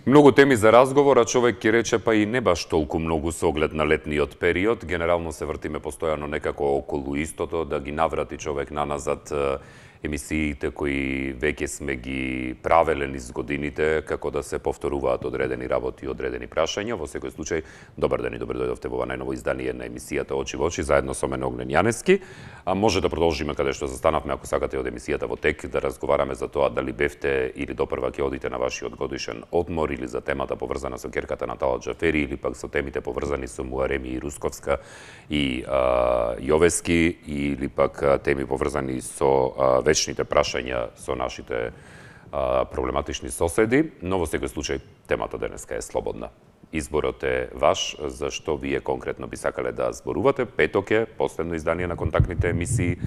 Многу теми за разговор, а човек ќе рече па и не баш толку многу со оглед на летниот период. Генерално се вртиме постојано некако околу истото, да ги наврати човек наназад емисиите кои веќе сме ги правеле низ годините, како да се повторуваат одредени работи и одредени прашања. Во секој случај, добар ден и добре дојдовте во ова најново издание на емисијата Очи во очи, заедно со мене Огнен Јаневски. Може да продолжиме каде што застанавме, ако сакате, од емисијата во тек, да разговараме за тоа дали бевте или допрва ќе одите на вашиот годишен одмор, или за темата поврзана со ќерката на Талат Џафери, или пак со темите поврзани со Муареми и Русковска и Јовески, или пак теми поврзани со вечните прашања со нашите проблематични соседи, но во секој случај темата денеска е слободна. Изборот е ваш, за што вие конкретно би сакале да зборувате. Петок е последно издание на контактните емисии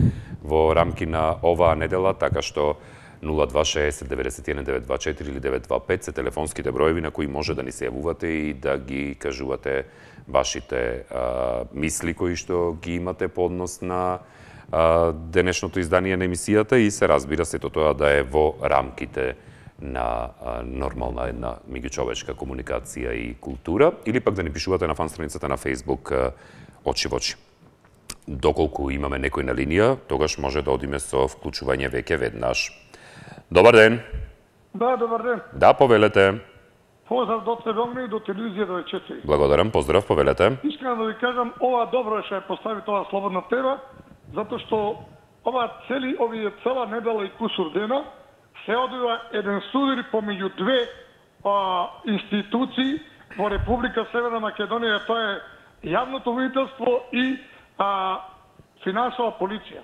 во рамки на оваа недела, така што 026 91 924 или 925 се телефонските броеви на кои може да ни се јавувате и да ги кажувате вашите мисли кои што ги имате по однос на денешното издание на емисијата и се разбира сето тоа да е во рамките на нормална една меѓучовечка комуникација и култура, или пак да ни пишувате на фан страницата на Facebook Очи во очи. Доколку имаме некој на линија, тогаш може да одиме со вклучување веќе веднаш. Добар ден. Да, добар ден. Да, повелете. Поздрав до тебе, Огнен, и до телевизија 24. Благодарам, поздрав, повелете. Искам да ви кажам, ова добро што ја постави тоа слободна тема, затоа што овие цела недела и кусур дена се одвива еден судар помеѓу две институции во Република Северна Македонија, тоа е јавното водителство и финансова полиција.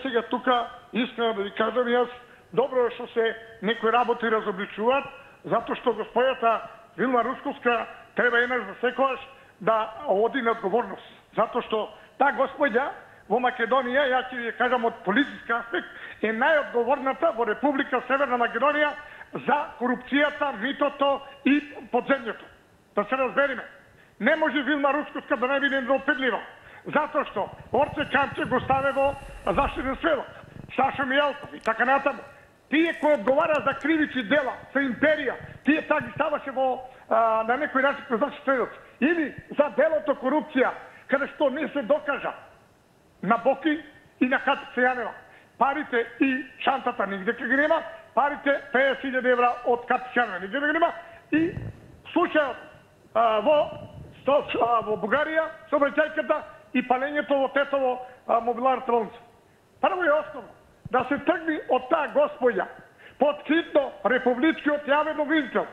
Сега тука искам да ви кажам јас, добро е што се некои работи разобличуваат, затоа што господјата Вилма Русковска треба еднаш за секогаш да оди на одговорност. Затоа што таа господја во Македонија, ја ќе ви кажам од политички аспект, е најодговорната во Република Северна Македонија за корупцијата, митото и подземјето. Да се разбериме. Не може Вилма Русковска да не биде неопедлива. Затоа што Орце Камче го ставе во заштитен сведок. Сашо Мијалков и така натаму. Тие кои одговара за кривични дела, за империја, тие така ги ставаше на некој начин кој значи сведоци. Или за делото корупција, каде што не се докажа на Боки и на Катица Јанева. Парите и шантата нигде ке ги нема, парите 50.000 евра од Катица Јанева нигде ке ги нема и случајот во Бугарија, сообраќајката и палењето во Тетово мобиларната болница. Прво и основно, да се тргни од таа господја, под хитно републичкиот јавен обвинител,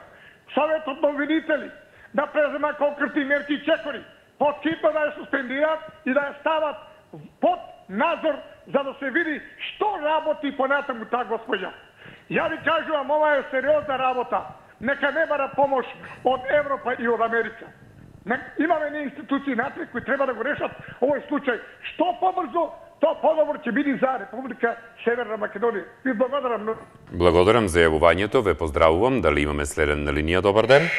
Советот на обвинители, да презема конкретни мерки и чекори, под хитно да ја суспендираат и да ја стават под надзор, за да се види што работи понатаму таа господја. Ја ви кажувам, ова е сериозна работа. Нека не бара помош од Европа и од Америка. Имаме не институции напред кои треба да го решат овој случај. Што побрзо, тоа подобро ќе биде за Република Северна Македонија. Ви благодарам многу. Благодарам за јавувањето, ве поздравувам. Дали имаме следен на линија? Добар ден.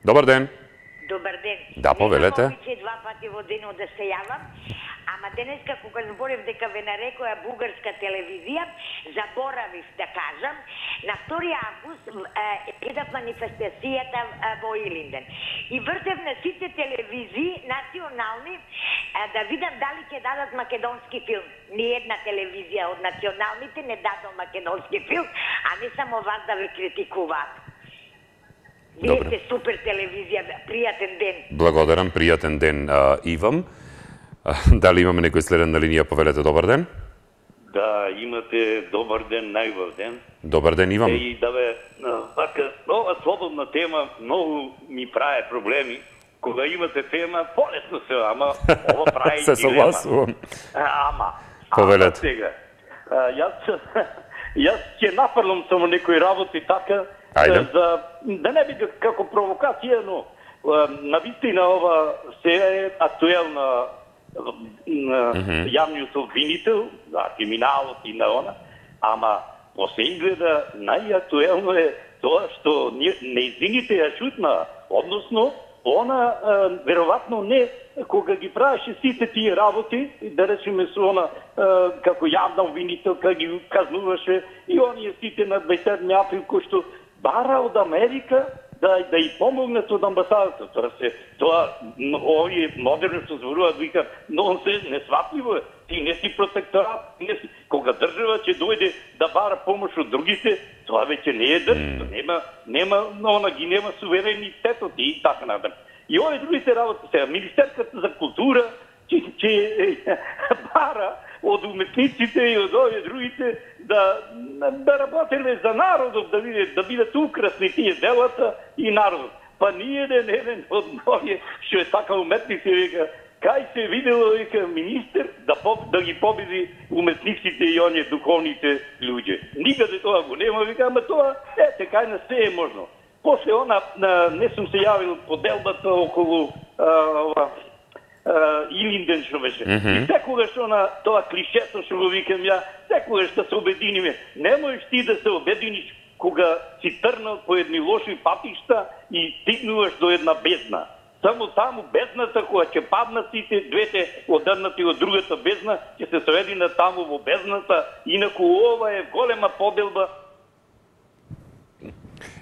Добар ден. Добар ден. Да, повелете. Немам обичај два пати во денот да се јавам, ама денеска кога зборев дека ве нарекоја бугарска телевизија, заборавив да кажам, на 2 август гледав манифестацијата во Илинден. И вртев на сите телевизии национални да видам дали ќе дадат македонски филм. Ни една телевизија од националните не дадо македонски филм, а не само вас да ве критикуваат. Вие сте супер телевизија, пријатен ден. Благодарам, пријатен ден и вам. Дали имаме некој следен на линија, повелете, добар ден? Да, имате добар ден, најубав ден. Добар ден и вам. И да бе, ова слободна тема многу ми прави проблеми. Кога имате тема, полесно се, ама ова прави се согласувам. Повелете. Сега, јас ќе нафрлам само некои работи така, за да не биде како провокација, но навистина ова се е актуелна јавниот обвинител, криминалот и на она, ама во се изгледа најактуелно е тоа што неизвините ја шутна, односно она веројатно не кога ги правеше сите тие работи, да речеме со она како јавна обвинителка ги казнуваше и оние сите на 27 април кои што бара од Америка да и помогнат од амбасадата. Тоа овие модерно што зборуваат, викаат, но се несватливо е. Ти не си протекторат, кога држава ќе дојде да бара помош од другите, тоа веќе не е држава, нема суверенитетот и така натаму. И овие другите работи сега, Министерството за култура ќе бара од уметниците и од овие другите да работеле за народот, да бидат украсни тие делата и народот. Па ние еден од овие што е така уметници, века, кај се видело, века, министер да ги победи уметниците и оние духовните луѓе. Никаде тоа го нема, века, ама тоа, кај на се е можно. После не сум се јавил по делбата околу Илинден што беше. И секогаш тоа клишето што го викам ја, секогаш да се обединиме. Не можеш ти да се обединиш кога си трнал по едни лоши патишта и стигнуваш до една бездна. Само таму бездната, кога ќе паднат сите двете одедната од другата бездна, ќе се сведина таму во бездната, инаку ова е голема поделба.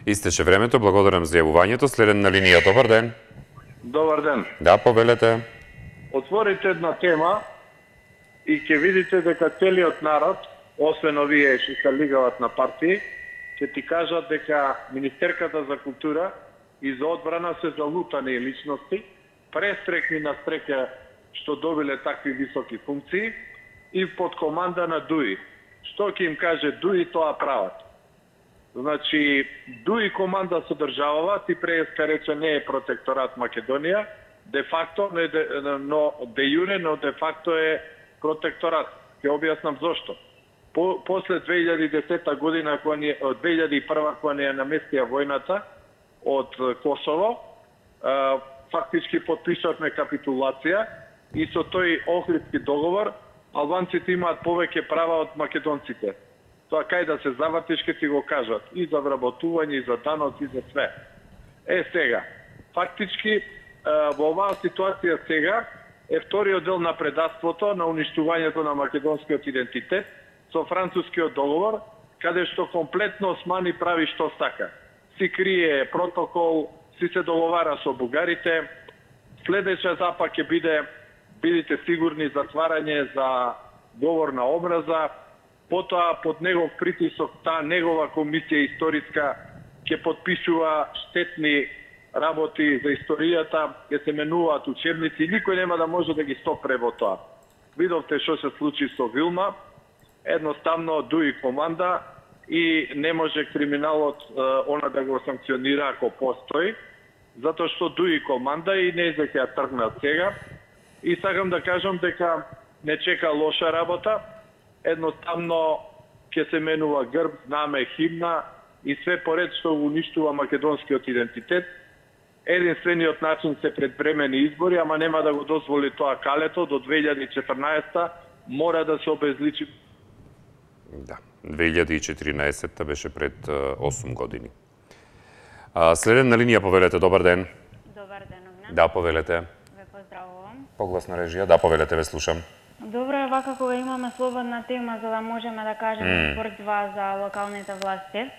Истече времето, благодарам за јавувањето. Следен на линија, добар ден. Добар ден. Да, повелете. Отворите една тема и ќе видите дека целиот народ, освен овие што се лигават на партии, ќе ти кажат дека Министерката за култура и за одбрана се залутани личности, престрекни на стреќа што добиле такви високи функции и под команда на ДУИ. Што ќе им каже ДУИ, тоа прават. Значи, ДУИ команда со државава, ти преска рече не е протекторат Македонија, де факто, но де јуре, но де факто е протекторат. Ќе објаснам зошто. После 2010 година, од 2001 кога не ја наместија војната од Косово, фактички подпишавме капитулација и со тој Охридски договор албанците имаат повеќе права од македонците. Тоа кај да се завртиш ке ти го кажат. И за вработување, и за даноци, и за све. Сега, фактички, во оваа ситуација сега е вториот дел на предавството, на уништувањето на македонскиот идентитет, со францускиот договор, каде што комплетно Османи прави што сака. Си крие протокол, си се договара со бугарите, следеќа запа ќе бидете сигурни затварање за говор на омраза, потоа под негов притисок таа негова комисија историска ќе подпишува штетни работи за историјата, ќе се менуваат учебници, никој нема да може да ги стопре во тоа. Видовте што се случи со Вилма, едноставно ДУИ команда и не може криминалот она да го санкционира ако постои, затоа што ДУИ команда и не ќе ја тргнат сега. И сакам да кажам дека не чека лоша работа, едноставно ќе се менува грб, знаме, химна и све поред што уништува македонскиот идентитет. Единствениот начин се предвремени избори, ама нема да го дозволи тоа калето до 2014 мора да се обезличи. Да, 2014 беше пред 8 години. Следен на линија, повелете, добар ден. Добар ден, Огнен. Да, повелете. Ве поздравувам. Погласна режија, да, повелете, ве слушам. Добро е вака кога имаме слободна тема за да можеме да кажеме според два за локалните власти.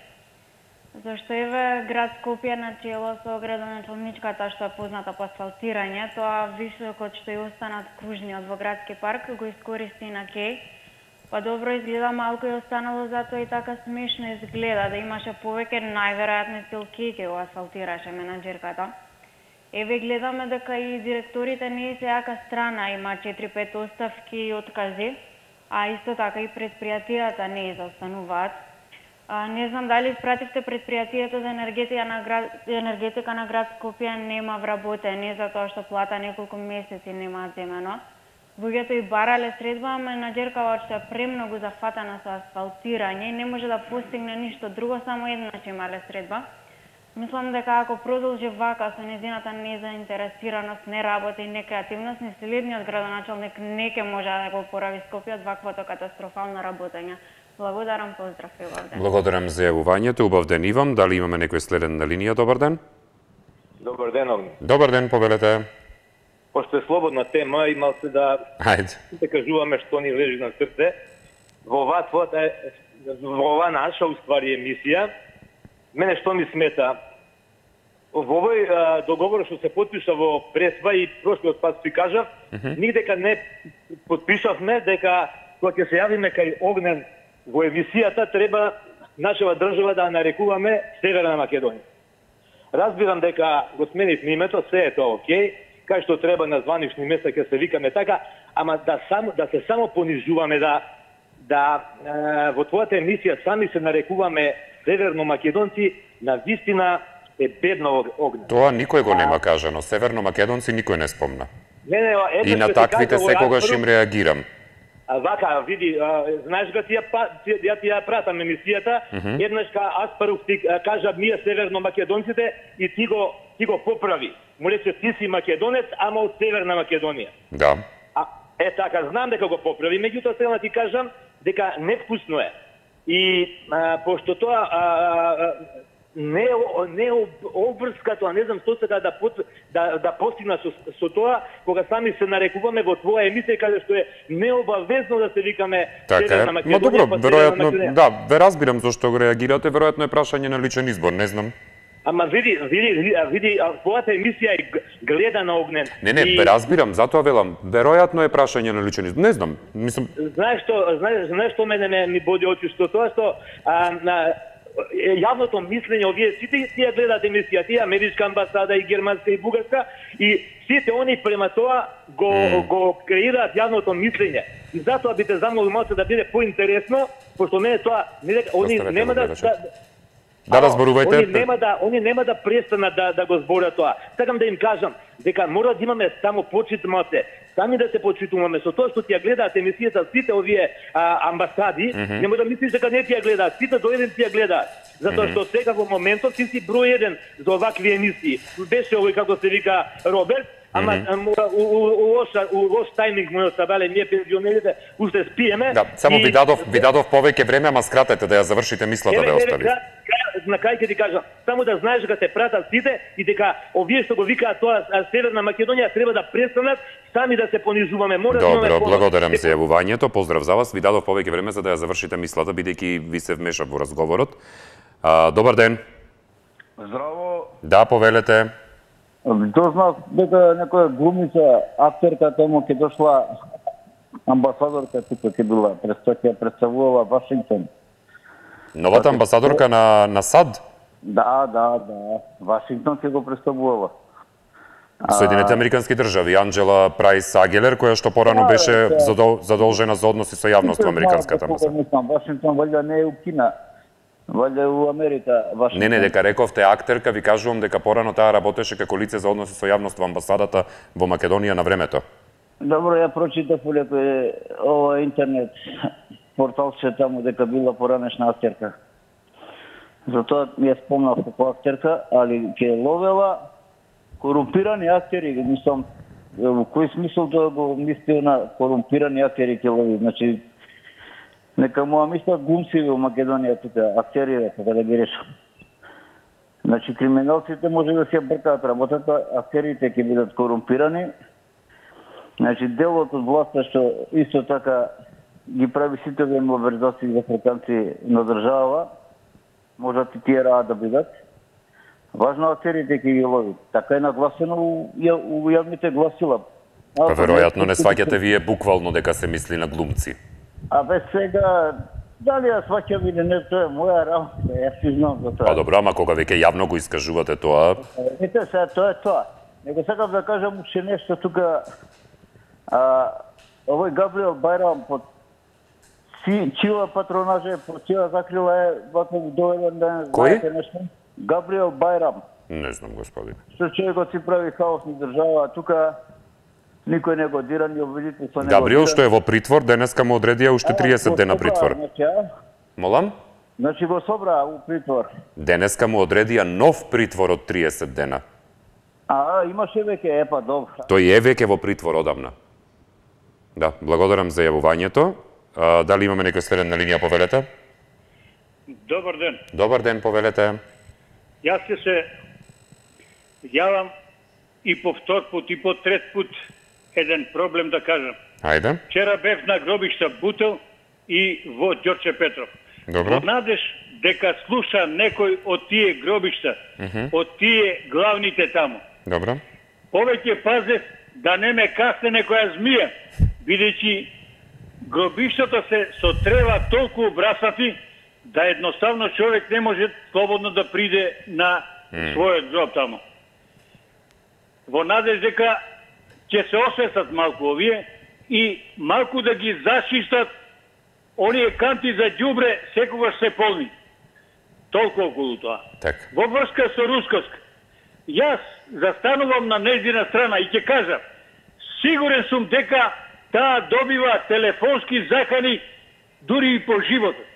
Зашто еве град Скопје на чело со градоначалничката што е позната по асфалтирање, тоа високот што ја останат кружниот во градски парк го искористи на кеј. Па добро изгледа, малку е останало, затоа и така смешно изгледа, да имаше повеќе, најверојатно стил кеј го асфалтираше менаџерката. Еве гледаме дека и директорите не е сеака страна, има 4-5 оставки и откази, а исто така и предпријатијата не заостануваат. Не знам дали испративте предпријатието за енергетика на град Скопје нема вработени, затоа што плата неколку месеци немаат земено. Луѓето и барале средба, менаџеркава што е премногу зафатена со асфалтирање и не може да постигне ништо друго, само еднаш имале средба. Мислам дека ако продолжи вака со незината незаинтересираност, неработа и некреативност, ни следниот градоначалник не ќе може да го опорави Скопје од ваквото катастрофално работење. Благодарам, поздрав и убав ден. Благодарам за јавувањето, убав ден и вам. Дали имаме некој следен на линија? Добар ден. Добар ден, Огнен. Добар ден, повелете. Пошто е слободна тема, имал се да кажуваме што ни лежи на срце. Во оваа наша, уствари, емисија, мене што ми смета, во овој договор што се потпиша во Пресва и прошлиот пат си кажав, никдека не потпишавме дека кога ќе се јавиме кај Огнен во емисијата треба нашава држава да нарекуваме Северна Македонија. Разбирам дека го сменивме името, се е тоа окей, кај што треба на званични места ќе се викаме така, ама да се само понижуваме, да во твојата емисија сами се нарекуваме Северно Македонци, на вистина е бедно Огнен. Тоа никој го нема кажано. Северно Македонци никој не спомна. И на ќе таквите секогаш им реагирам. Вака, види, знаеш га ја ти ја пратам емисијата, еднаш Аспарух ти кажа ние Северно Македонците и ти го поправи. Му рече ти си македонец, ама од Северна Македонија. Да. Така, знам дека го поправи, меѓутоа сега ти кажам дека невкусно е. И пошто тоа не обврска тоа, не знам што сека да постигна со тоа, кога сами се нарекуваме во твоја емисија, каде што е необавезно да се викаме Северна Македонија. Ма добро, веројатно, да, ве разбирам зашто го реагирате, веројатно е прашање на личен избор, не знам. Ама види, твојата емисија е гледана Огнен. Не, ве разбирам, затоа велам, веројатно е прашање на личен избор, не знам, мислам... Знаеш што мене ми боди очи, што тоа што јавното мислење, овие сите тие гледаат емисија, тие америчка амбасада и германска и бугарска, и сите они према тоа го креираат јавното мислење. И затоа би те замолил малку да биде поинтересно, пошто мене тоа, они нема да разборувајте. Они нема да престанат да го зборат тоа. Сакам да им кажам дека мора да имаме само почитмате, сами да се почитуваме со тоа што ти ја гледаат емисијата сите овие амбасади, нема да мислиш дека не ти ја гледаат, сите до еден ти ја гледаат. Затоа што сега во моментот ти си број еден за овакви емисии. Беше овој како се вика Роберт, ама у лош тајминг му оставале ние пензионерите, уште спиеме. Да, само ви дадов повеќе време, ама скратете да ја завршите мислата да ја остави. На крај ќе ти кажам, само да знаеш дека те пратат сите и дека овие што го викаат тоа Северна Македонија треба да престанат сами да се понижуваме. Добро, благодарам за јавувањето. Поздрав за вас. Ви дадов повеќе време за да ја завршите мислата, бидејќи ви се вмешав во разговорот. Добар ден. Здраво. Да, повелете. Дознав дека некоја глумица, актерка таму ќе дошла, амбасадорка тука ќе била, ќе представувала Вашингтон. Новата амбасадорка на САД? Да. Вашингтон ќе го представувала. Соединените Американски држави, Анџела Прајс Агелер, која што порано беше задолжена за односи со јавност во Американската амбасада. Вашингтон валја не е у Кина, валја у Америка. Не, дека рековте актерка, ви кажувам дека порано таа работеше како лице за односи со јавност во амбасадата во Македонија на времето. Добро, ја прочитав по ова интернет порталче таму дека била поранешна актерка. Затоа ми ја спомнав како актерка, али ќе ловела корумпирани актери, мислам, во кој смисол тоа го мисли на корумпирани актери ќе лови, значи нека му мислат глумци во Македонија тука, актери, така да ги решам. Значи криминалците може да се бркаат работата, актерите ќе бидат корумпирани. Значи делот од власта што исто така ги прави сите овие мобилизации за африканци на држава, можат и тие раат да бидат. Важно актерите ќе ги лови. Така е нагласено у јавните гласила. Па веројатно не сваќате вие буквално дека се мисли на глумци. Сега, дали ја сваќам или не, тоа е моја работа, јас си знам за тоа. Па добро, ама кога веќе јавно го искажувате тоа... Ете сега, тоа е тоа. Него сакам да кажам уште нешто тука, овој Габриел Бајрам под чија патронажа, под чија закрила е вако доведен ден, знаете нешто? Габриел Бајрам. Не знам, господине. Што човекот си прави хаосни држава, тука никој не го дира, ни обвинителство не го дира. Габриел што е во притвор, денеска му одредија уште 30 дена притвор. Молам? Значи го собра у притвор. Денеска му одредија нов притвор од 30 дена. Имаше веќе, добро. Тој е веќе во притвор одамна. Да, благодарам за јавувањето. Дали имаме некој следен на линија, повелете? Добар ден. Добар ден, повелете. Јас ќе се јавам и по втор пут и по трет пут еден проблем да кажам. Ајде. Вчера бев на гробишта Бутел и во Ѓорче Петров. Добро. Во надеж дека слуша некој од тие гробишта, од тие главните таму. Добро. Повеќе пазев да не ме касне некоја змија, бидејќи гробиштата се со трева толку обрасати, да едноставно човек не може слободно да приде на својот гроб таму. Во надеж дека ќе се освестат малку овие и малку да ги зачистат оние канти за ѓубре секогаш се полни. Толку околу тоа. Так. Во врска со Русковска, јас застанувам на нејзина страна и ќе кажам, сигурен сум дека таа добива телефонски закани дури и по животот.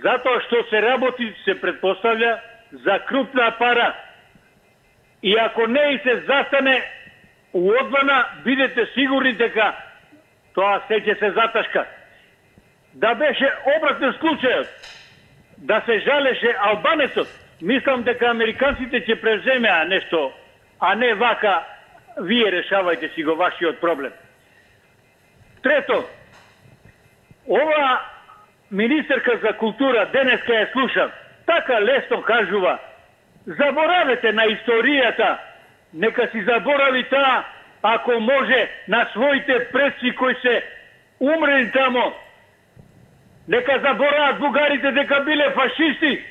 Затоа што се работи, се предпоставля за крупна пара. И ако не и се застане одвана, бидете сигурни дека тоа се ќе се заташка. Да беше обратен случајот, да се жалеше албанецот, мислам дека американците ќе преземеа нешто, а не вака, вие решавајте си го вашиот проблем. Трето, ова министерка за култура, денеска ја слушам, така лесно кажува, заборавете на историјата, нека си заборави таа, ако може, на своите предци кои се умрели тамо, нека заборават бугарите дека биле фашисти.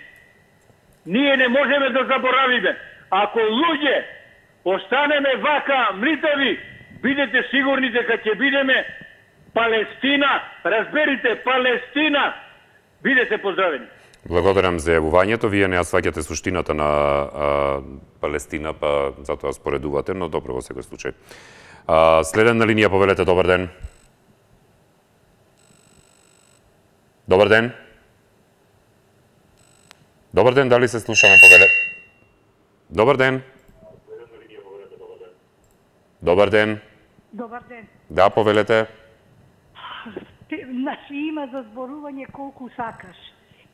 Ние не можеме да заборавиме. Ако луѓе останеме вака млитави, бидете сигурни дека ќе бидеме Палестина, разберите, Палестина. Бидете поздравени. Благодарам за јавувањето. Вие не ја сваќате суштината на Палестина, па затоа споредувате, но добро во секој случај. Следен на линија, повелете, добар ден. Добар ден. Добар ден, дали се слушаме, повелете? Добар ден. Добар ден. Добар ден. Да, повелете. Значи има за зборување колку сакаш.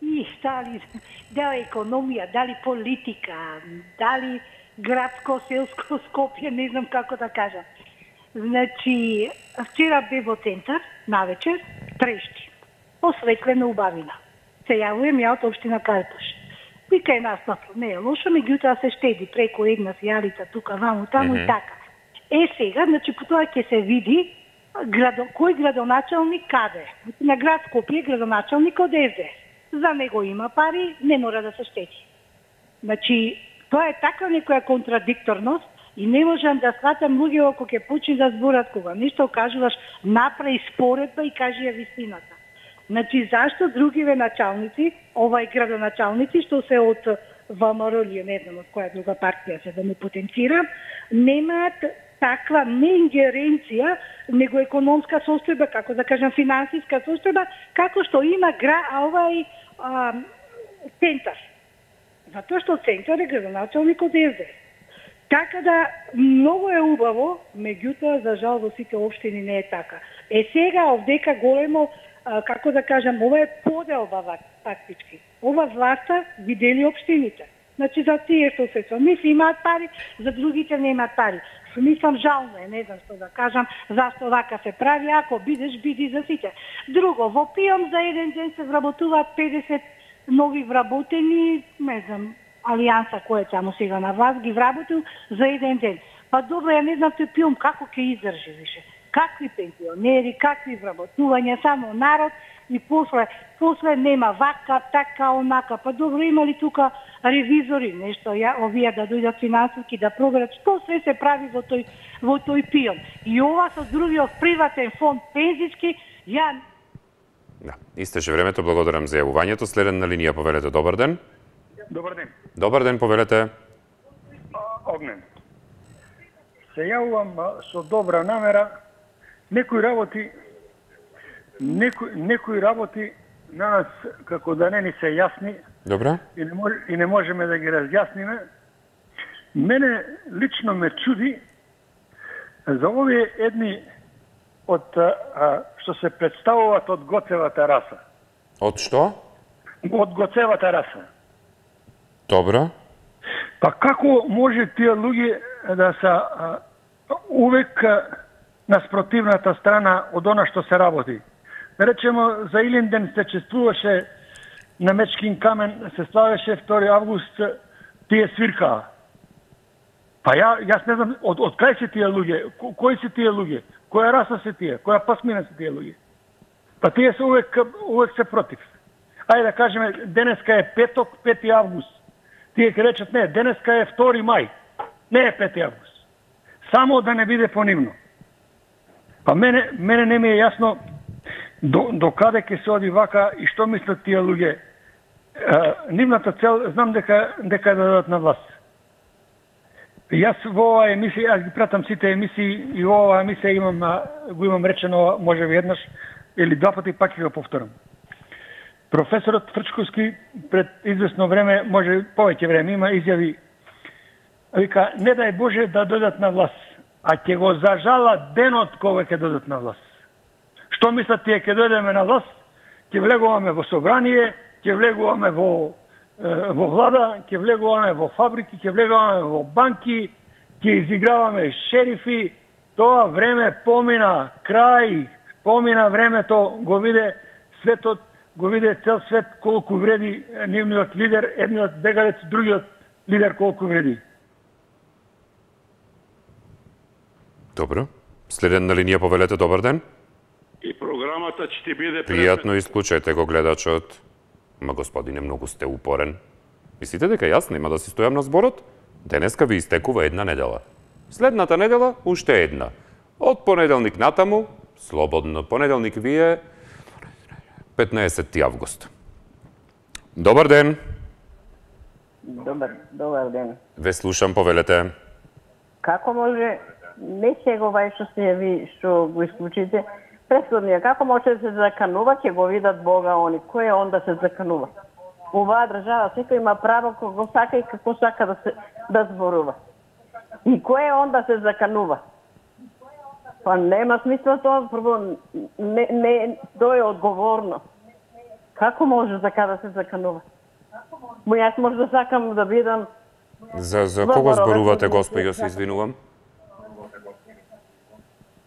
И дали економија, дали политика, дали градско, селско Скопје, не знам како да кажам. Значи, вчера бе во центар, навечер, Трешти, осветлена убавина. Се јавувам ја од општина Карташ. Вика е настапно, не е лошо, меѓутоа се штеди преку една сијалица, тука, ваму, таму и така. Сега, значи, по тоа ќе се види кој градоначалник каде. На град Скопје градоначалник од СДС. За него има пари, не мора да се штети. Значи, тоа е таква некоја контрадикторност и не можам да сватам луѓе ако ќе почне да зборат кога нешто кажуваш, направи споредба и кажи ја вистината. Значи, зашто другиве началници, овај градоначалници, што се од ВМРО или не знам од која друга партија се да не потенцирам, немаат таква не ингеренција, него економска состојба, како да кажам финансиска состојба, како што има овај центар. Затоа што центар е градоначалник од СДС. Така да, многу е убаво, меѓутоа, за жал, во сите општини не е така. Сега, овдека големо, како да кажам, ова е поделба фактички. Ова власта ги дели општините. Значи, за тие што се мисли имаат пари, за другите не имаат пари. Мислам, жално е, не знам што да кажам, зашто вака се прави, ако бидеш, биди за сите. Друго, во Пијом за еден ден се вработуваат 50 нови вработени, не знам, Алијанса кој е таму сега на вас, ги вработил за еден ден. Па добро, ја не знам тој Пијом како ќе издржи више. Какви пензионери, какви вработувања, само народ и после нема вака, така, онака. Па добро, има ли тука ревизори, нешто, овие да дојдат финансиски да проверат што се се прави во тој Пијом. И ова со другиот приватен фонд пензиски, Да, истече времето, благодарам за јавувањето. Следен на линија, повелете, добар ден. Добар ден. Добар ден, повелете. Огнен. Се јавувам со добра намера. Некои работи на нас како да не ни се јасни. Добра. И не можеме да ги разјасниме. Мене лично ме чуди за овие едни од што се представуваат од Гоцевата раса. Од што? Од Гоцевата раса. Добро. Па како може тие луѓе да се увек на спротивната страна од она што се работи? Да речемо, за Илинден се чествуваше на Мечкин камен се славеше 2 август, тие свиркаа. Па јас не знам од кај се тие луѓе, кои се тие луѓе, која раса се тие, која пасмина се тие луѓе. Па тие се увек се против. Ајде да кажеме, денеска е петок, 5 август. Тие ќе речат, не, денеска е 2 мај, не е 5 август. Само да не биде понивно. Па мене не ми е јасно до каде ќе се оди вака и што мислат тие луѓе. Нивната цел, знам дека да дадат на власт. Јас во оваа емисија, јас ги пратам сите емисии и во оваа емисија го имам речено, може би еднаш или 2 пати, пак ќе го повторам. Професорот Фрчковски пред известно време, може повеќе време, има изјави, вика, не дај Боже да додат на власт, а ќе го зажалат денот кога ќе додат на власт. Што мислат тие, ќе дојдеме на власт, ќе влегуваме во собрание, ќе влегуваме во влада, ќе влегуваме во фабрики, ќе влегуваме во банки, ќе изиграваме шерифи. Тоа време помина, крај, помина времето, го виде светот, го виде цел свет колку вреди нивниот лидер, едниот бегалец, другиот лидер колку вреди. Добро. Следен на линија, повелете, добар ден. И програмата ќе ти биде пријатно, исклучајте го гледачот. Ма господине, многу сте упорен. Мислите дека јас нема да си стојам на зборот? Денеска ви истекува една недела. Следната недела уште една. Од понеделник натаму, слободно. Понеделник ви е 15 август. Добар ден. Добар ден. Ве слушам, повелете. Како може, не сега што сте ви што го исклучите, претходнија, како може да се заканува, ќе го видат Бога они. Кој е он да се заканува? Оваа држава секој има право кога сака и како сака да зборува. И кој е он да се заканува? Па нема смисла тоа, прво не тоа е одговорно. Како може така да се заканува? Јас може да сакам да бидам. За кого зборувате, господи, се извинувам?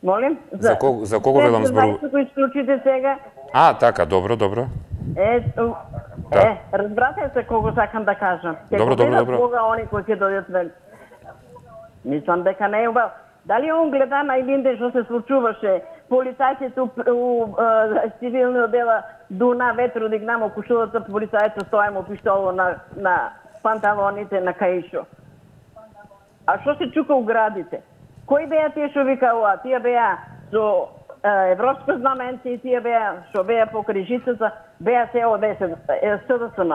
Молим? За кого велам зборувате? За кој исклучите сега? Така, добро. Разбрате се кого сакам да кажам. Добро. Кога они кои ќе дојдат вели. Мислам дека не е убаво. Дали он гледа на Илинде што се случуваше? Полицајците у цивилниот дела дуна ветру дигнамо кушулата, полицајците стојамо пиштоло на панталоните на каишо. А што се чука у градите? Кои беа тие што викаа? Тие беа со европско знаменце и тие беа што беа по крижицата, беа се СДСМ.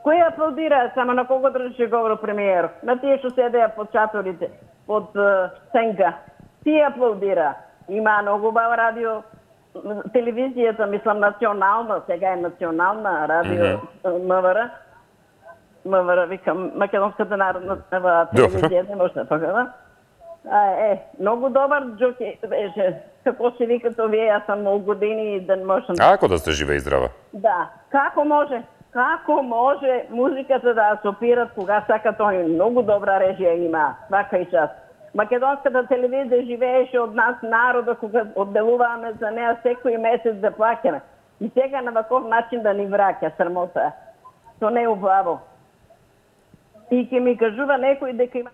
Кој аплодира, само на кого држеше говор премиер? На тие што седеа под чаторите, под сенка. Тие аплодира. Има многу убава радио, телевизијата, мислам национална, сега е национална радио МВР, викам, Македонската народна телевизија, не може да погледам. Многу добар джоки беше. Како се викат овие, јас сам многу години и да не можам... Ако да сте жива и здрава. Да. Како може музиката да асопират кога сака тој? Многу добра режија има, вака и час. Македонската телевизија живееше од нас народа кога одделуваме за неа секој месец да плаќаме. И сега на ваков начин да ни враќа, срамота. То не е убаво. И ќе ми кажува некој дека има...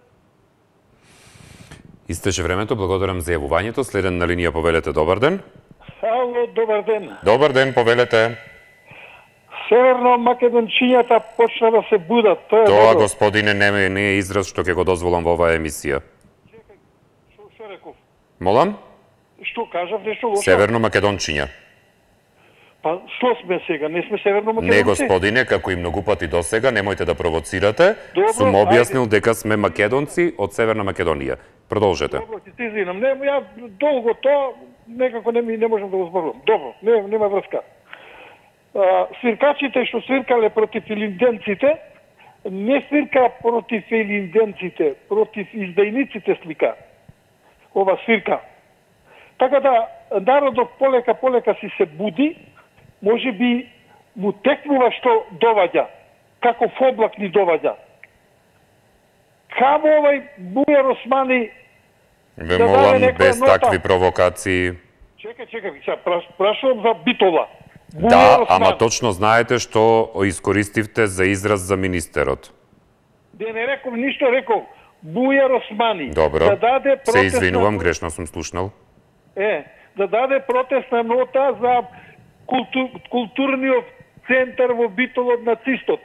Истече времето, благодарам за јавувањето. Следен на линија, повелете, добар ден. Ало, добар ден. Добар ден, повелете. Северно македончињата почна да се будат. Тоа, господине, не е израз што ќе го дозволам во оваа емисија. Чекај, што реков? Молам? Што кажав, нешто лошо? Северно македончиња. Па, што сме сега? Не сме северно македонци? Не, господине, како и многу пати до сега, немојте да провоцирате. Сум објаснил дека сме македонци од Северна Македонија. Продолжете. Добро, ти извинам. Не, ја долго тоа некако не можам да го зборувам. Добро, нема врска. Свиркачите што свиркале против илинденците, не свирка против илинденците, против издајниците свика. Ова свирка. Така да народот полека си се буди, може би му текнува што доваѓа, како облак ни доваѓа. Камо овај Бујар Османи... Ве молам, без такви провокации. Чекај, сега прашувам за Битола. Да, ама точно знаете што искористивте за израз за министерот. Не реков ништо, реков Бујар Османи. Добро, да даде се извинувам, грешно сум слушнал. Да даде протестна нота за културниот центар во Битол од нацистот,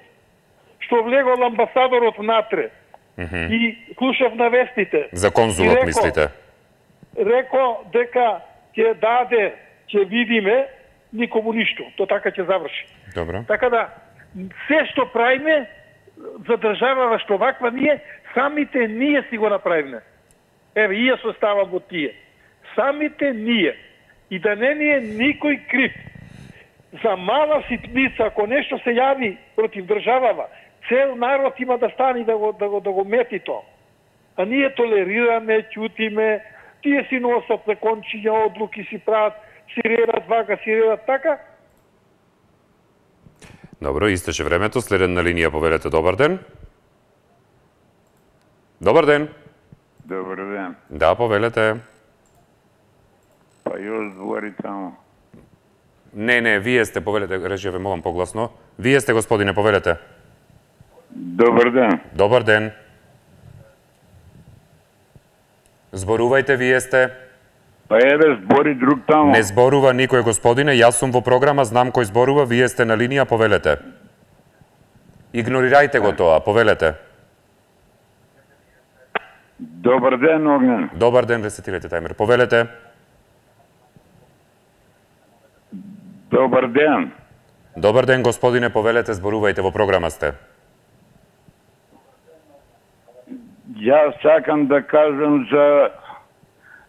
што влегол амбасадорот внатре. И слушав на вестите. За конзулот мислите? Реко дека ќе даде, ќе видиме, никому ништо. То така ќе заврши. Добро. Така да, се што правиме, за држава што ваква ние, самите ние си го направиме. Еве, и јас оставам во тие. Самите ние. И да не ни е никој крив. За мала ситница, ако нешто се јави против државава, цел народ има да стани да го мети то. А ние толерираме, ќутиме, тие си носат закончиња, одлуки си прават, си редат вака, си редат така. Добро, истече времето. Следен на линија, повелете, добар ден. Добар ден. Добар ден. Да, повелете. Па још збори тамо. Не, вие сте, повелете, режија, ве молам погласно. Вие сте, господине, повелете. Добар ден. Добар ден. Зборувајте, вие сте. Па еве, збори друг тамо. Не зборува никој, господине, јас сум во програма, знам кој зборува, вие сте на линија, повелете. Игнорирајте го тоа, повелете. Добар ден, Огнен. Добар ден, ресетирајте тајмер. Повелете. Добар ден. Добар ден, господине, повелете, зборувајте, во програма сте. Јас сакам да кажам за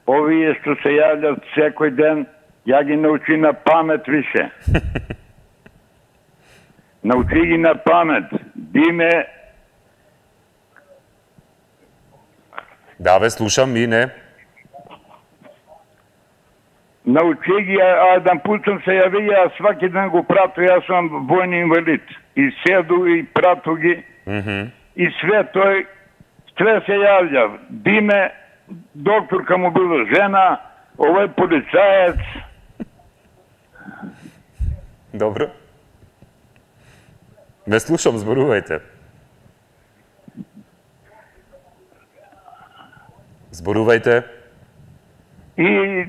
овие што се јавljат секој ден, ја ги научи на памет више. Научи ги на памет. Биме... Да, ве слушам, и не. Научи ги, а еден пут сум се јави, а сваки ден го прату, јас сум војни инвалид. И седу и прату ги. И све тој, све се јавља. Биме, докторка му била жена, овој полицаец. Добро. Ме слушам, зборувајте. Зборувајте. И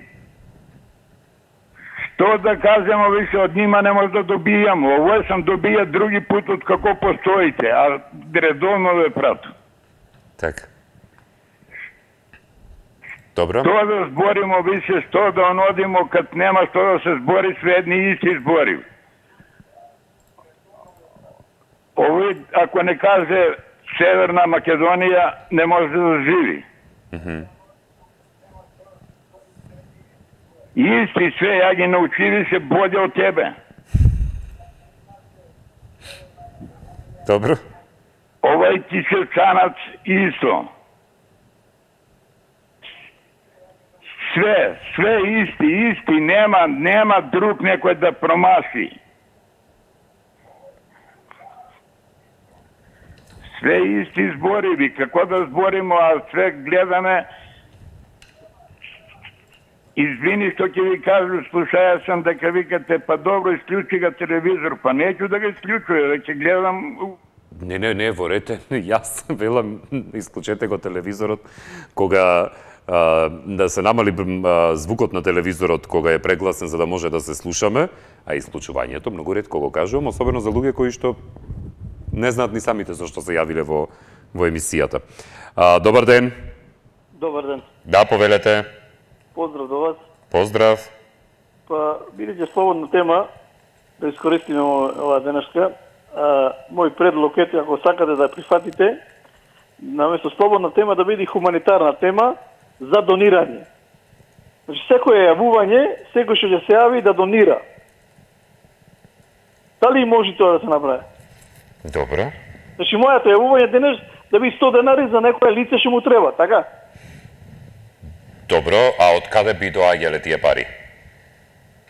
што да кажемо више од нима не може да добијам. Овој сам добија други пут од како постоите, а редовно ве прату. Така. Добро. Што да зборимо више, што да онодимо, кад нема што да се збори, све едни исти збори. Овој, ако не каже Северна Македонија, не може да живи. Исти све, ја ги научи више боље од тебе. Добро. Овај Кичевчанац исто. Све исти, нема друг некој да промаши. Све исти збори, како да зборимо, а све гледаме. Извини што ќе ви кажу, слушаја сам дека викате, па добро, исклучи ga телевизор, па неќу да го исклучуја, веќе гледам... Не, ворете, јас велам, исклучете го телевизорот, кога да се намали звукот на телевизорот кога е прегласен за да може да се слушаме, а исклучувањето многу ретко го кажувам, особено за луѓе кои што не знаат ни самите зашто се јавиле во емисијата. Добар ден. Добар ден. Да, повелете. Поздрав до вас. Поздрав. Па, бидејќи слободна тема, да искористиме оваа денешка, мој предлог е, ако сакате да прифатите, наместо слободна тема да биде хуманитарна тема за донирање. Значи, секој јавување, секој што ќе се јави да донира. Дали може тоа да се направи? Добро. Значи, мојата јавување денес да би 100 денари за некоја лице што му треба, така? Добро, а од каде би доаѓале тие пари?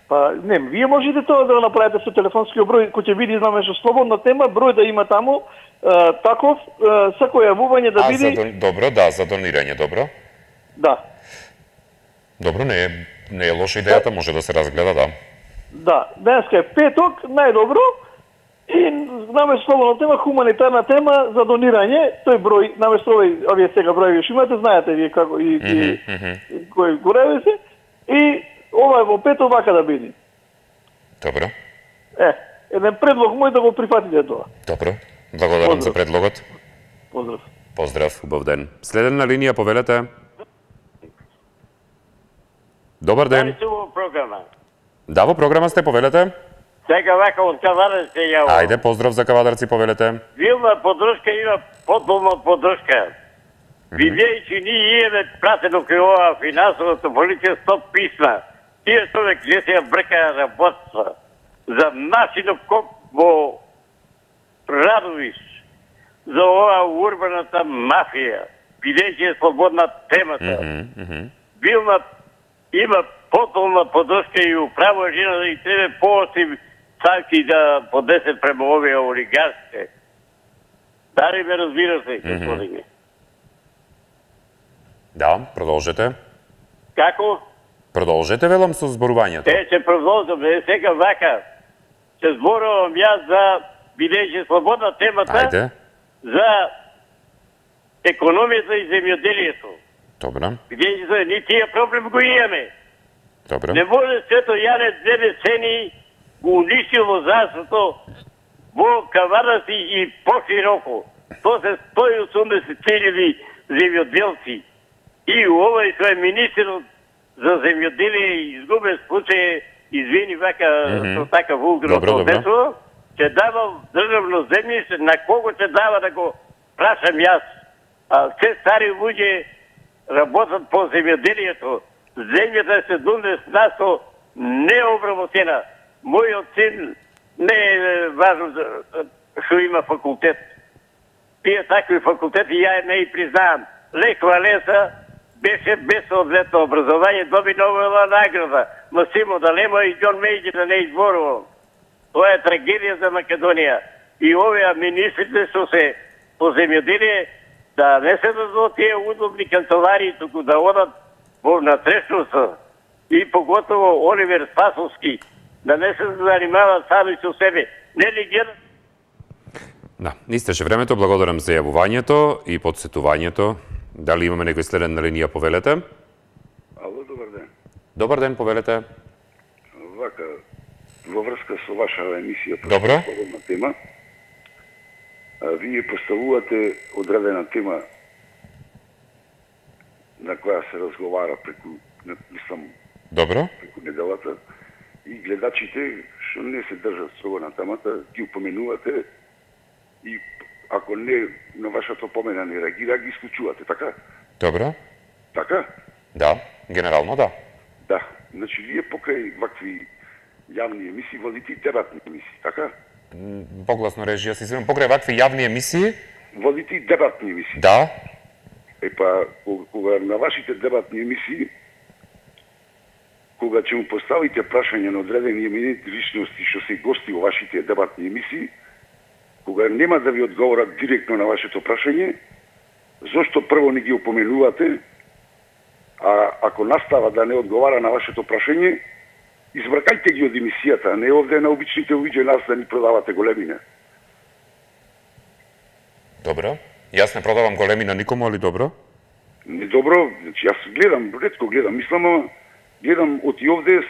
Па, не, вие можете тоа да го направите со телефонскиот број, кој ќе биде, знаме, што слободна тема, број да има таму, таков, секој јавување да биде... Добро, да, за донирање, добро. Да. Добро, не е лоша идејата, може да се разгледа, да. Да, денеска е петок, најдобро. И наместо слободна тема, хуманитарна тема за донирање, тој број, наместо овие сега бројови што имате, знаете вие како и кој гореви се, и ова е во петок вака да биде. Добро. Еден предлог мој да го прифатите тоа. Добро. Благодарам за предлогот. Поздрав. Поздрав, убав ден. Следен на линија, повелете. Добар ден. Дали сте во програма? Да, во програма сте, повелете. Сега вака од Кавадарци ја. Ајде, поздрав за Кавадарци, повелете. Вилна подршка има подолна подршка. Видејќи ние имаме пратено кај ова финансовата полиција 100 писма. Тие човек не се брка работа за Масинов коп во Радовиш, за ова урбаната мафија. Видејќи е слободна темата. Вилна има подолна подршка и управа жена да и треба поостри санкции да подесет према овие олигарсите. Дали ме разбирате, господине? Да, продолжете. Како? Продолжете, велам, со зборувањето. Ќе продолжам, сега вака. Се зборувам јас за, бидејќи слободна темата, Ајде. за економијата и земјоделието. Добро. Бидејќи ние тие проблем го имаме. Добро. Не може Свето Јане 2 децени го унищил лозарството во Кавадарци и пошироко. То се 180.000 земјоделци. И овој кој е министерот за земјоделие изгубен случај, извини вака со така вулгарно однесува, ќе дава државно земјиште, на кого ќе дава да го прашам јас. А се стари луѓе работат по земјоделието. Земјата е 70% необработена. Мојот син не е важно што има факултет. Тие такви факултети ја не и признавам. Лек Валенса беше без одветно образование, доби Нобелова награда. Масимо Далема и Џон Мејджи да не изборувам. Тоа е трагедија за Македонија. И овие министрите што се по земјоделие да не се дадат тие удобни канцеларии, туку да одат во внатрешноста и поготово Оливер Спасовски да не се занимават сами со себе. Не ли гледат? Да, истеше времето, благодарам за јавувањето и подсетувањето. Дали имаме некој следен на линија, повелете? Ало, добар ден. Добар ден, повелете. Вака, во врска со ваша емисија по Добро. слободна тема, вие поставувате одредена тема на која се разговара преку, мислам, Добро. преку неделата, и гледачите што не се држат строго на темата, ги упоменувате и ако не на вашата помена не реагира, ги исклучувате, така? Добро. Така? Да, генерално да. Да. Значи, вие покрај вакви јавни емисии водите дебатни емисии, така? Погласно режија, се извинувам, покрај вакви јавни емисии? Водите дебатни емисии. Да. Епа, кога на вашите дебатни емисии, кога ќе му поставите прашање на одредени еминентни личности што се гости во вашите дебатни емисии, кога нема да ви одговорат директно на вашето прашање, зошто прво не ги опоменувате, а ако настава да не одговара на вашето прашање, избракајте ги од емисијата, а не овде на обичните луѓе нас да ни продавате големина. Добро. Јас не продавам големина никому, али добро? Не добро, значи јас гледам, ретко гледам, мислам, гледам од и овде,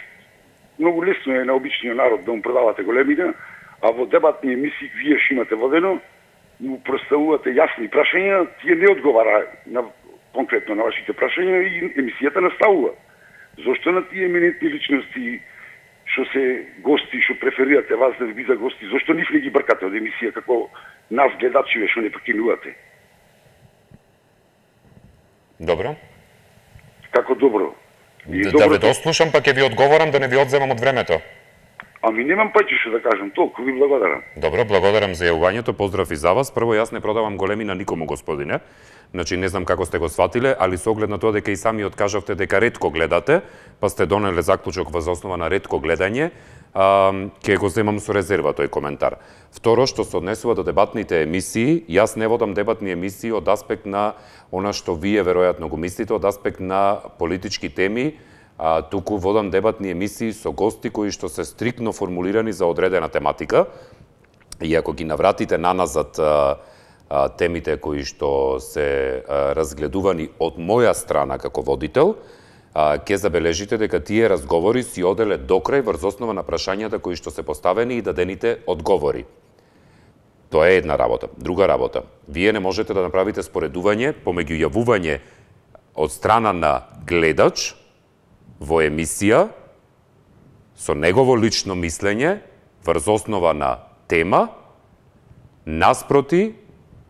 многу лесно е на обичниот народ да му продавате големина, а во дебатни емисии вие што имате водено, му представувате јасни прашања, тие не одговара на, конкретно на вашите прашања и емисијата наставува. Зошто на тие еминентни личности што се гости, што преферирате вас да ви бидат гости, зошто нив не ги бркате од емисија како нас гледачиве што не прекинувате? Добро. Како добро? Да ве дослушам, па ќе ви одговорам да не ви одземам од времето. Ами немам паќе што да кажам, толку ви благодарам. Добро, благодарам за јавувањето, поздрав и за вас. Прво, јас не продавам големина никому, господине. Значи, не знам како сте го сватиле, али со оглед на тоа дека и сами откажавте дека ретко гледате, па сте донеле заклучок во основа на ретко гледање, ќе го земам со резерва тој коментар. Второ, што се однесува до дебатните емисии, јас не водам дебатни емисии од аспект на она што вие веројатно го мислите, од аспект на политички теми, туку водам дебатни емисии со гости кои што се стриктно формулирани за одредена тематика, и ако ги навратите наназад темите кои што се разгледувани од моја страна како водител, ќе забележите дека тие разговори си оделе докрај врз основа на прашањата кои што се поставени и дадените одговори. Тоа е една работа. Друга работа, вие не можете да направите споредување помеѓу јавување од страна на гледач во емисија со негово лично мислење врз основа на тема, наспроти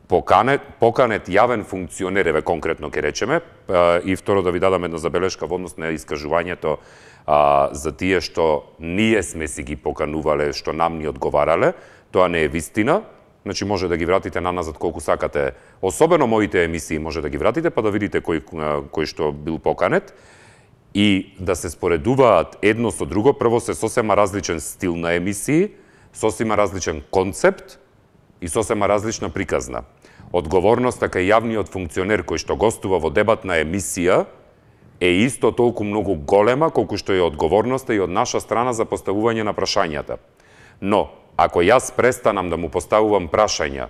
поканет јавен функционер, еве конкретно ќе речеме, и второ да ви дадам една забелешка во однос на искажувањето за тие што ние сме си ги поканувале, што нам ни одговарале, тоа не е вистина. Значи може да ги вратите наназад колку сакате, особено моите емисии може да ги вратите, па да видите кој што бил поканет, и да се споредуваат едно со друго. Прво се сосема различен стил на емисии, сосема различен концепт и сосема различна приказна. Одговорноста кај јавниот функционер кој што гостува во дебатна емисија е исто толку многу голема колку што е одговорноста и од наша страна за поставување на прашањата. Но, ако јас престанам да му поставувам прашања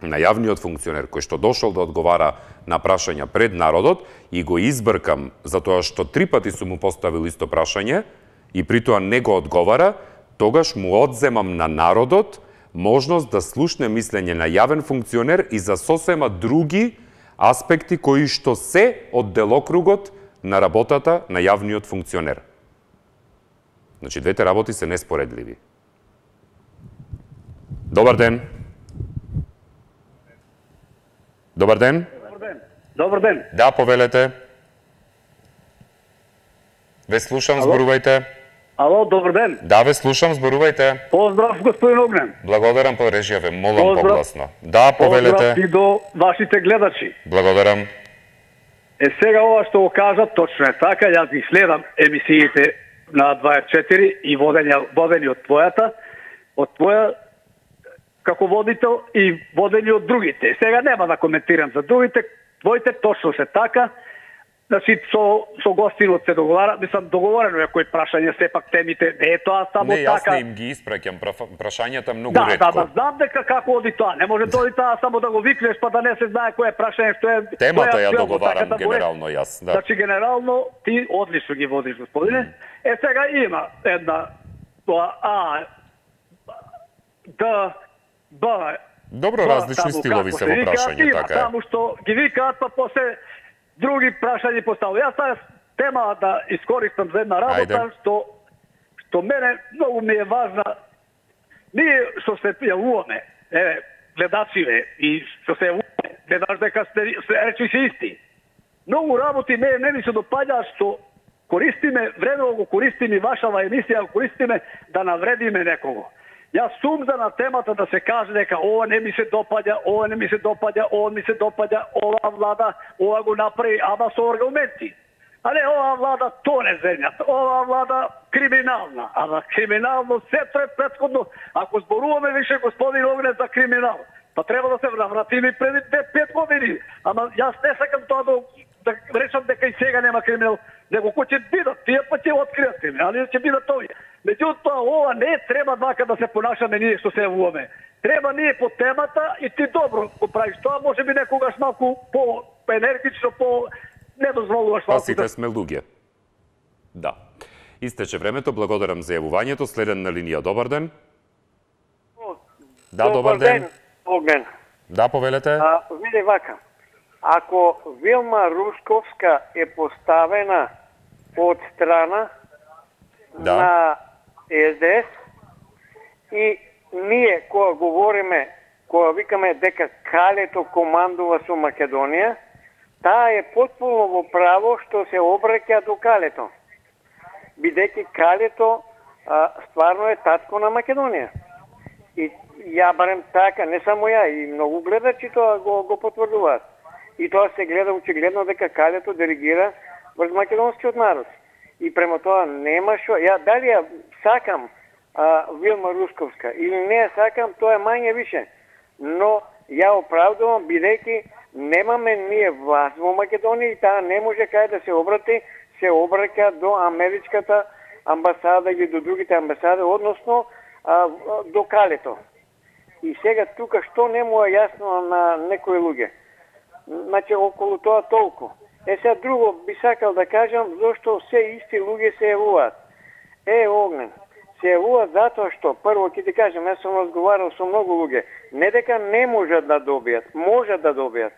на јавниот функционер кој што дошол да одговара на прашања пред народот и го избркам затоа што 3 пати сум му поставил исто прашање и при тоа не го одговара, тогаш му одземам на народот можност да слушне мислење на јавен функционер и за сосема други аспекти кои што се од делокругот на работата на јавниот функционер. Значи, двете работи се неспоредливи. Добар ден. Добар ден. Добар ден. Да, повелете. Ве слушам, зборувајте. Ало, добар ден. Да, ве слушам, зборувајте. Поздрав, господин Огнен. Благодарам, по режија ве, молам погласно. Да, повелете. Поздрав и до вашите гледачи. Благодарам. Сега ова што го кажа, точно е така, јас ги следам емисиите на 24 и водени од твоја како водител и водени од другите. Сега нема да коментирам за другите, твоите точно се така. Значи, со гостинот се договара, мислам, договорено е кој прашање, сепак темите, не е тоа само така. Не, јас така. не им ги испраќам прашањата многу да, ретко. Да, знам дека како оди тоа. Не може да оди тоа само да го викнеш, па да не се знае кој е прашање, што е... Темата ја договарам така, генерално јас. Да. Значи, генерално, ти одлично ги водиш, господине. Сега има една тоа Б... Добро, различни стилови се во прашање, така е. Таму што ги викаат, па после други прашања поставува. Јас таа тема да искористам за една работа, што мене многу ми е важна. Ние што се јавуваме, гледачиве, и што се јавуваме, гледаш дека речи се исти. Многу работи не ми се допаѓа што користиме, вредно го користиме вашава емисија, користиме да навредиме некого. Јас сум за на темата да се каже дека ова не ми се допаѓа, ова не ми се допаѓа, ова ми се допаѓа, ова влада, ова го направи, ама со аргументи. А не ова влада тоне земјата, ова влада криминална. Ама криминално сето е претходно. Ако зборуваме више господин Огнен за криминал, па треба да се вратиме преди 5 години. Ама јас не сакам тоа да речам дека и сега нема криминал, него кој ќе бидат, тие па ќе откријат криминал, али ќе бидат овие. Меѓутоа, ова не треба вака да се понашаме ние што се јавуваме. Треба ние по темата и ти добро го правиш тоа, може би некогаш малку по-енергично, не дозволуваш малку. Сите сме луѓе. Да. Истече времето, благодарам за јавувањето. Следен на линија, добар ден. Да, добар ден. Огнен. Да, повелете. Види вака, ако Вилма Рушковска е поставена од страна на СДС и ние кога говориме, кога викаме дека Калето командува со Македонија, таа е потполно во право што се обраќа до Калето. Бидејќи Калето стварно е татко на Македонија. И ја барем така, не само ја, и многу гледачи тоа го потврдуваат. И тоа се гледа очигледно дека Калето диригира врз македонскиот народ. И према тоа нема шо, ја дали ја сакам Вилма Рушковска или не ја сакам, тоа е мање више. Но ја оправдувам бидејќи немаме ние власт во Македонија и таа не може кај да се обрати, се обраќа до америчката амбасада или до другите амбасади, односно до калето. И сега тука што не му е јасно на некои луѓе. Значи околу тоа толку. Сега друго би сакал да кажам зашто се исти луѓе се јавуваат. Огнен, се јавуваат затоа што прво ќе ти кажам, јас сум разговарал со многу луѓе, не дека не можат да добијат, можат да добијат,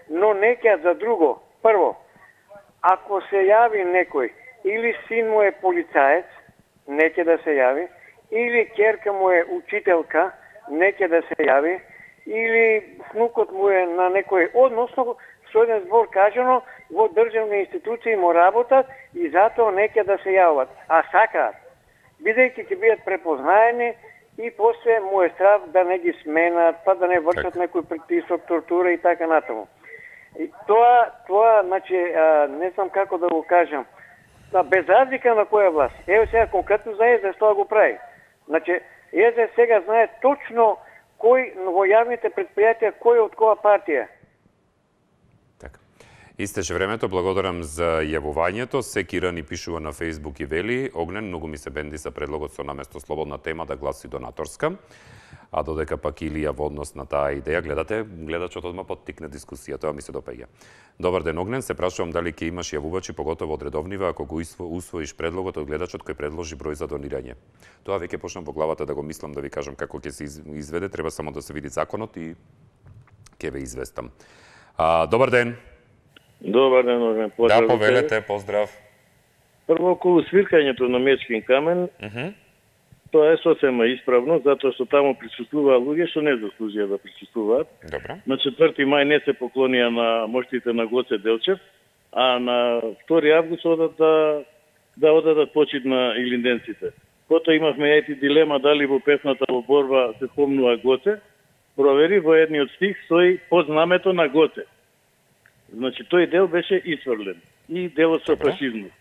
но неќе за друго. Прво, ако се јави некој или син му е полицаец, неќе да се јави, или ќерка му е учителка, неќе да се јави, или внукот му е на некој, односно со еден збор кажано, во државни институции му работат и затоа неќе да се јават. А сакаат, бидејќи ќе бидат препознаени и после му е страв да не ги сменат, па да не вршат некој притисок, тортура и така натаму. И тоа, значи, не знам како да го кажам, без разлика на која власт. Ево сега конкретно за ЕЗД тоа го прави. Значи, ЕЗД сега знае точно кој во јавните предпријатија, кој од која партија. Така. Истеше времето, благодарам за јавувањето. Секира ни пишува на Фејсбук и вели: Огнен, многу ми се бенди за предлогот со наместо слободна тема да гласи донаторска. А додека пак Илија во однос на таа идеја, гледачот одма поттикне дискусија, тоа ми се допаѓа. Добар ден, Огнен, се прашувам дали ќе имаш јавувачи, поготово од редовнива, ако го усвоиш предлогот од гледачот кој предложи број за донирање. Тоа веќе почнам во главата да го мислам, да ви кажам како ќе се изведе, треба само да се види законот и ќе ве известам. Добар ден. Добар ден, Огнен, поздрав. Да, повелете, поздрав. Прво, околу свиркањето на Мечкин камен, тоа е сосема исправно, затоа што таму присуствуваа луѓе што не заслужија да присуствуваат. Добре. На 4 мај не се поклонија на моштите на Гоце Делчев, а на 2 август одат да одадат почит на илинденците. Потоа имавме ети дилема дали во песната во борба се спомнува Гоце. Провери, во едниот стих стои под знамето на Гоце. Значи тој дел беше исфрлен и делот со фашизмот.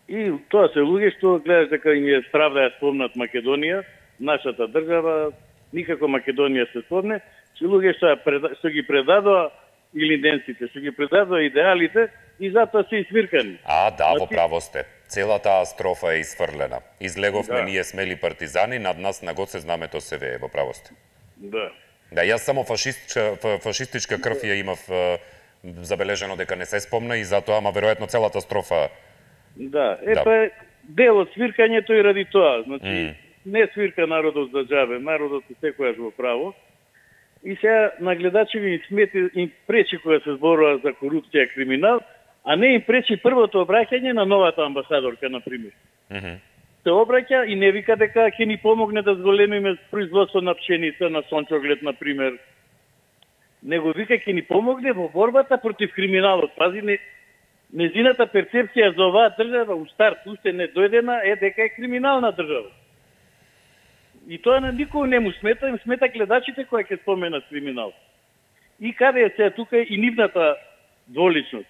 И тоа се луѓе што гледаш дека им е страв да ја спомнат Македонија, нашата држава, никако Македонија се спомне, че луѓе што ги предадоа илинденците, што ги предадоа идеалите и затоа се исвиркани. Да, во право сте. Целата строфа е исфрлена. Излеговме ние смели партизани, над нас на Гоце знамето се вее, во право сте. Да. Да, јас само фашистичка крв ја имав забележено дека не се спомна и затоа, ама веројатно целата строфа. Да, па дел од свиркањето и ради тоа. Значи, не свирка народот за џабе, народот е секојаш во право. И сега на гледачи им пречи кога се зборува за корупција и криминал, а не им пречи првото обраќање на новата амбасадорка, например. Се обраќа и не вика дека ќе ни помогне да зголемиме производство на пшеница, на сончоглед, например. Него вика ќе ни помогне во борбата против криминалот. Пази, незината перцепција за оваа држава у старт уште не дојдена е дека е криминална држава. И тоа на никој не му смета, им смета гледачите кои ќе споменат криминал. И каде е сега тука и нивната дволичност.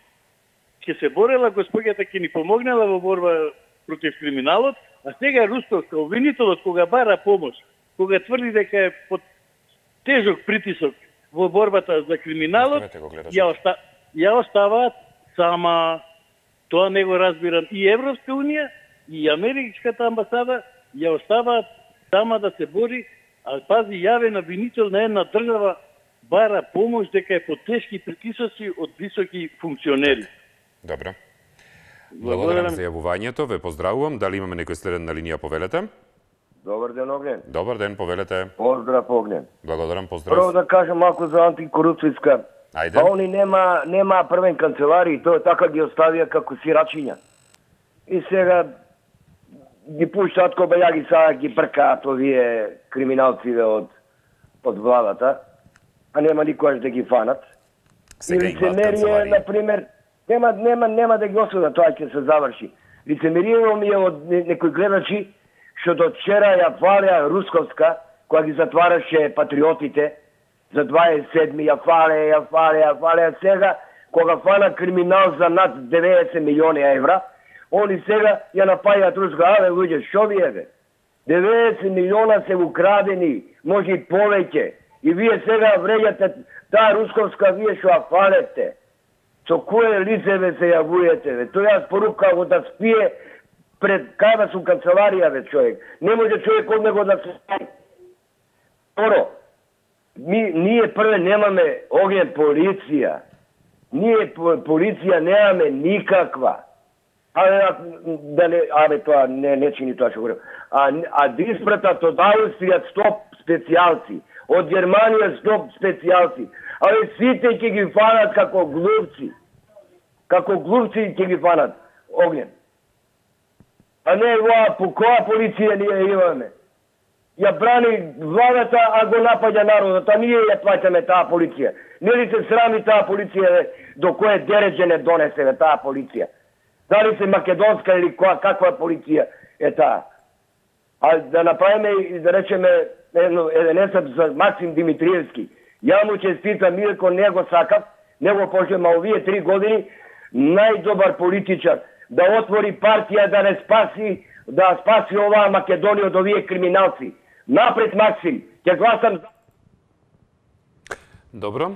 Ќе се борела господјата, ќе ни помогнала во борба против криминалот, а сега Рустовска, обвинителот, кога бара помош, кога тврди дека е под тежок притисок во борбата за криминалот, ја оставаат сама. Тоа не го разбирам. И Европска унија, и Америкската амбасада ја оставаат сама да се бори, а пази, јавен обвинител на една држава бара помош дека е под тешки притисоци од високи функционери. Добро. Благодарам за јавувањето, ве поздравувам. Дали имаме некој следен на линија, повелете? Добар ден, Огнен. Добар ден, повелете. Поздрав, Огнен. Благодарам, поздрав. Прво да кажам малку за антикорупцијска. Ајде. Па они нема првен канцелари, тоа така ги оставија како сирачиња. И сега ги пуштаат кобајаги, сега ги бркаат овие криминалциве од владата, а нема никојаш да ги фанат. И лицемерие, например, нема да ги осудат, тоа ќе се заврши. Лицемерието ми е од некои гледачи што до вчера ја фалеа Русковска, која ги затвараше патриотите, за 27 ја фалеа, сега, кога фана криминал за над 90 милиони евра, они сега ја напајаат Руска, луѓе, шо ви е бе? 90 милиона се украдени, може и повеќе. И вие сега вреѓате таа Русковска, вие што ја фалете. Со кое лице ве се јавуете, ве? Тој јас порупка го да спие пред када су канцеларија, ве, човек. Не може човек од него да се спаи. Второ, ние прве немаме Огнен полиција. Ние полиција немаме никаква. Тоа не чини тоа што говорам. А диспратат од Австрија 100 специјалци, од Германија 100 специјалци. Сите ќе ги фанат како глупци. Како глупци ќе ги фанат Огнен. А не по која полиција ние имаме? Ја брани владата, а го напаѓа народот, а ние ја плаќаме таа полиција. Нели се срами таа полиција до кое дереđe не донесе таа полиција? Дали се македонска или каква полиција е таа? А да направиме и да речеме еден есеп за Максим Димитриевски. Ја му честитам, Милко не го сакав, не го пожелам, а овие 3 години најдобар политичар да отвори партија да спаси оваа Македонија од овие криминалци. Напред, Максим, ќе гласам за... Добро.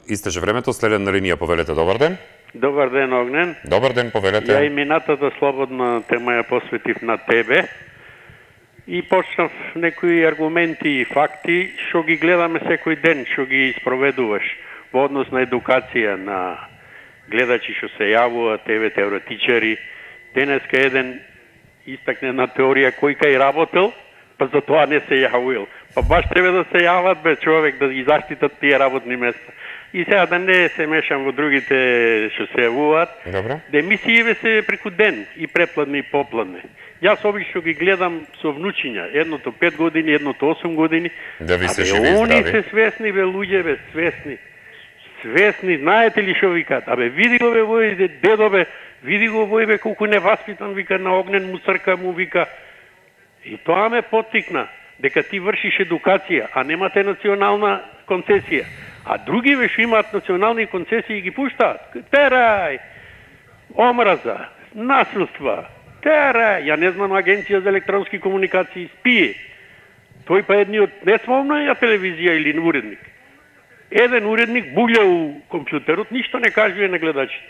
Истече времето, следен на линија, повелете, добар ден. Добар ден, Огнен. Добар ден, повелете. Ја и минатата слободна тема ја посветив на тебе и почнав некои аргументи и факти што ги гледаме секој ден, што ги спроведуваш во однос на едукација на гледачи што се јавуваат, тебе теоретичари. Денеска еден истакне на теорија кој кај работел, па за тоа не се јавил. Па баш тебе да се јават, бе, човек, да ги заштитат тие работни места. И сега да не се мешам во другите што се јавуваат. Добро. Да емисиите се преку ден, и препладне и попладне. Јас обично ги гледам со внучиња, едното 5 години, едното 8 години. Да ви се живи и здрави. Они се свесни, бе, луѓе, бе, свесни. Свесни, знаете ли што викаат? Абе, види го, бе, вој дедо, бе, види го, вој, бе, колку неваспитан, вика, на Огнен му црка, му вика. И тоа ме поттикна, дека ти вршиш едукација, а немате национална концесија. А други ве што имаат национални концесии ги пуштаат. Терај, омраза, насилства, терај, ја не знам, Агенција за електронски комуникации спие. Тој па едни од не смовна телевизија или уредник. Еден уредник буља у компјутерот, ништо не кажува на гледачите.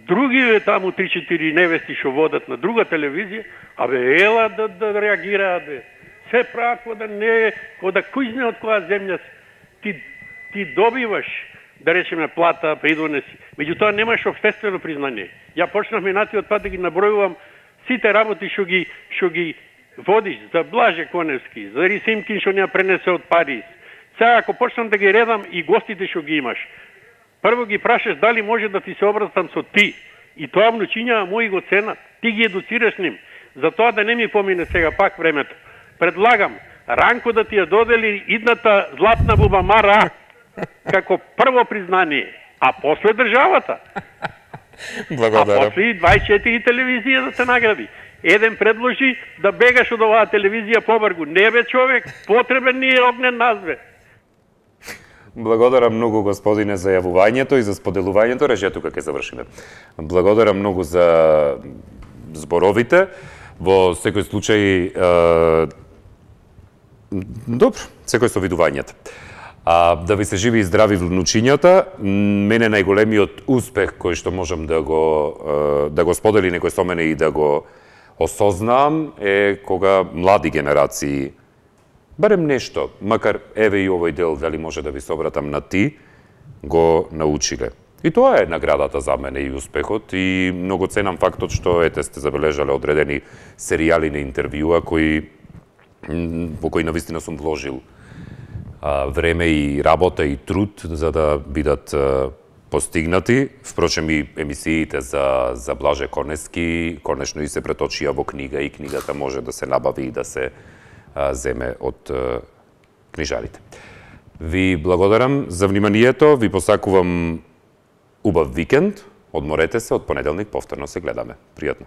Други таму 3-4 невести што водат на друга телевизија, абе ела да реагираат, бе. Се прават кода не, кода кујзне од која земја ти добиваш, да речеме, плата, придонеси. Меѓутоа немаш општествено признание. Ја почнав минатиот пат да ги набројувам сите работи што ги водиш за Блаже Коневски, за Рисимкин што не пренесе од Париз. Сега ако почнам да ги редам и гостите што ги имаш, прво ги прашаш дали може да ти се обратам со ти. И тоа внучиња мои го ценат. Ти ги едуцираш ним. За тоа да не ми помине сега пак времето. Предлагам Ранко да ти ја додели идната златна бубамара како прво признание, а после државата. Благодарам. А после 24 телевизија да се награди. Еден предложи да бегаш од оваа телевизија побргу. Не бе, човек, потребен ни е Огнен назве. Благодарам многу, господине, за јавувањето и за споделувањето. Рече, тука ќе завршиме. Благодарам многу за зборовите. Во секој случај, добро, секој со видувањето. Да ви се живи и здрави внучињата. Мене најголемиот успех кој што можам да го сподели некој со мене и да го осознам е кога млади генерации, барем нешто, макар еве и овој дел, дали може да ви се обратам на ти, го научиле. И тоа е наградата за мене и успехот, и многу ценам фактот што ете сте забележале одредени серијали на интервјуа во кои навистина сум вложил време и работа и труд за да бидат постигнати. Впрочем, и емисиите за Блаже Коневски конечно и се преточија во книга, и книгата може да се набави и да се земе од книжарите. Ви благодарам за вниманието, ви посакувам убав викенд, одморете се, од понеделник повторно се гледаме. Пријатно.